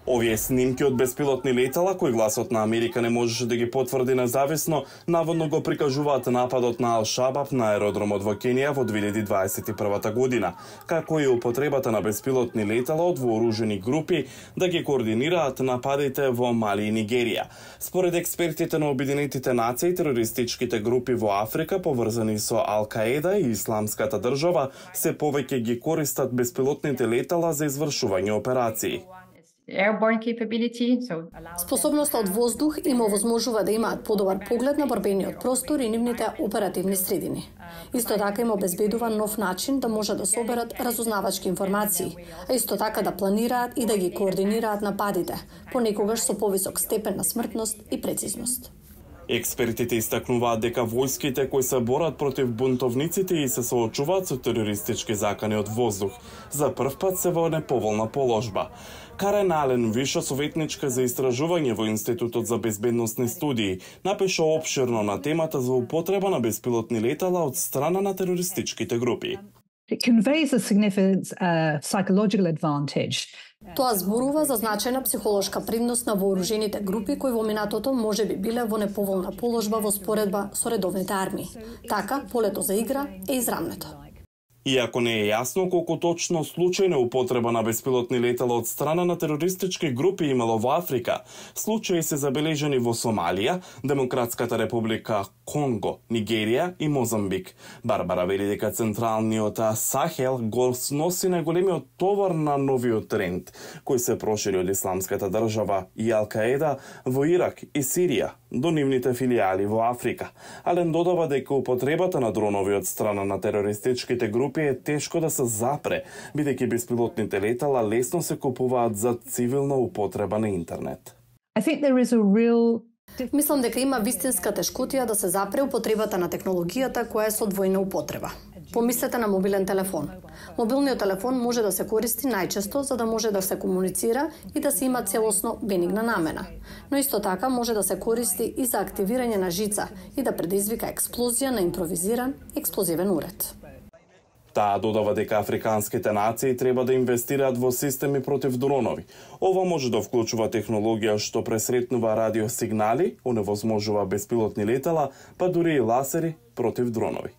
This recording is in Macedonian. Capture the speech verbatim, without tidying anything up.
Овие снимки од беспилотни летала, кои Гласот на Америка не можеше да ги потврди независно, наводно го прикажуваат нападот на Ал-Шабаб на аеродромот во Кенија во две илјади дваесет и прва година, како и употребата на беспилотни летала од вооружени групи да ги координираат нападите во Мали и Нигерија. Според експертите на Обединетите нации, терористичките групи во Африка, поврзани со Ал-Каеда и Исламската држава, се повеќе ги користат беспилотните летала за извршување операции. Способноста од воздух им овозможува да имаат подобар поглед на борбениот простор и нивните оперативни средини. Исто така им обезбедува нов начин да може да соберат разузнавачки информации, а исто така да планираат и да ги координираат нападите, понекогаш со повисок степен на смртност и прецизност. Експертите истакнуваат дека војските кои се борат против бунтовниците и се соочуваат со терористички закани од воздух, за прв пат се во неповолна положба. Карен Ален, виша советничка за истражување во Институтот за безбедносни студии, напиша опширно на темата за употреба на беспилотни летала од страна на терористичките групи. It conveys a significant uh, psychological advantage. Тоа зборува за значајна психолошка предност на вооружените групи кои во минатото може би биле во неповолна положба во споредба со редовните армии. Така, полето за игра е израмнето. Иако не е јасно колку точно случајна употреба на беспилотни летала од страна на терористички групи имало во Африка, случаи се забележани во Сомалија, Демократската република Конго, Нигерија и Мозамбик. Барбара вели дека централниот Сахел го носи најголемиот товар на новиот тренд, кој се прошири од Исламската држава и Ал-Каеда во Ирак и Сирија до нивните филијали во Африка. Ален додава дека употребата на дронови од страна на терористичките групи е тешко да се запре, бидејќи беспилотните летала лесно се купуваат за цивилна употреба на интернет. I think there is a real Мислам дека има вистинска тешкотија да се запре употребата на технологијата која е со двојна употреба. Помислете на мобилен телефон. Мобилниот телефон може да се користи најчесто за да може да се комуницира и да се има целосно бенигна намена. Но исто така може да се користи и за активирање на жица и да предизвика експлозија на импровизиран експлозивен уред. Таа додава дека африканските нации треба да инвестираат во системи против дронови. Ова може да вклучува технологија што пресретнува радиосигнали, оневозможува беспилотни летала, па дури и ласери против дронови.